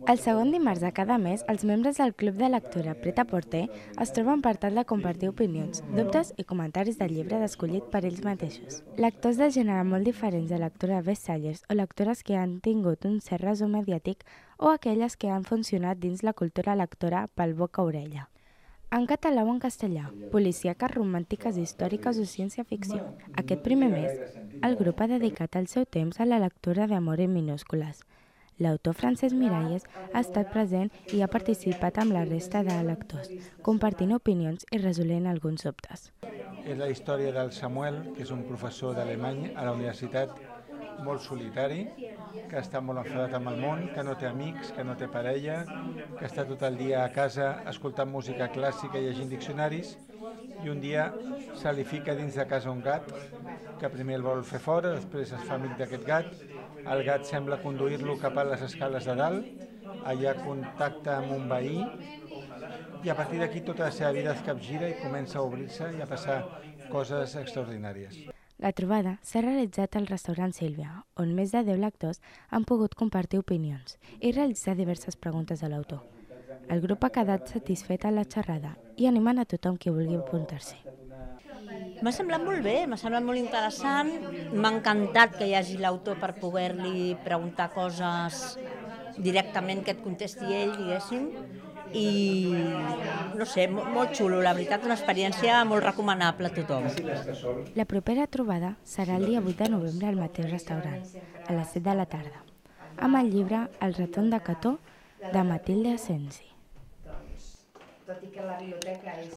El segon dimarts de cada mes, els membres del Club de Lectura Pret-a-Porter es troben per tal de compartir opinions, dubtes i comentaris del llibre escollit per ells mateixos. Lectors de gènere molt diferents de lectura bestsellers o lectures que han tingut un cert resum mediàtic o aquelles que han funcionat dins la cultura lectora pel boca a orella. En català o en castellà, policíaques, romàntiques, històriques o ciència-ficció. Aquest primer mes, el grup ha dedicat el seu temps a la lectura d'Amor en minúscules. L'autor Francesc Miralles ha estat present i ha participat amb la resta de lectors, compartint opinions i resolent alguns dubtes. És la història del Samuel, que és un professor d'alemany a la universitat, molt solitari, que està molt enfadat amb el món, que no té amics, que no té parella, que està tot el dia a casa escoltant música clàssica i llegint diccionaris, i un dia se li fica dins de casa un gat, que primer el vol fer fora, després es fa amic d'aquest gat, el gat sembla conduir-lo cap a les escales de dalt, allà contacta amb un veí, i a partir d'aquí tota la seva vida es capgira i comença a obrir-se i a passar coses extraordinàries. La trobada s'ha realitzat al restaurant Sílvia, on més de 10 lectors han pogut compartir opinions i realitzar diverses preguntes a l'autor. El grup ha quedat satisfet a la xerrada i animen a tothom qui vulgui apuntar-s'hi. M'ha semblat molt bé, m'ha semblat molt interessant, m'ha encantat que hi hagi l'autor per poder-li preguntar coses directament que et contesti ell, diguéssim, i no sé, molt xulo, la veritat, una experiència molt recomanable a tothom. La propera trobada serà el dia 8 de novembre al mateix restaurant, a les 7 de la tarda, amb el llibre El retorn de Cató de Matilde Asensi. Tot i que la biblioteca és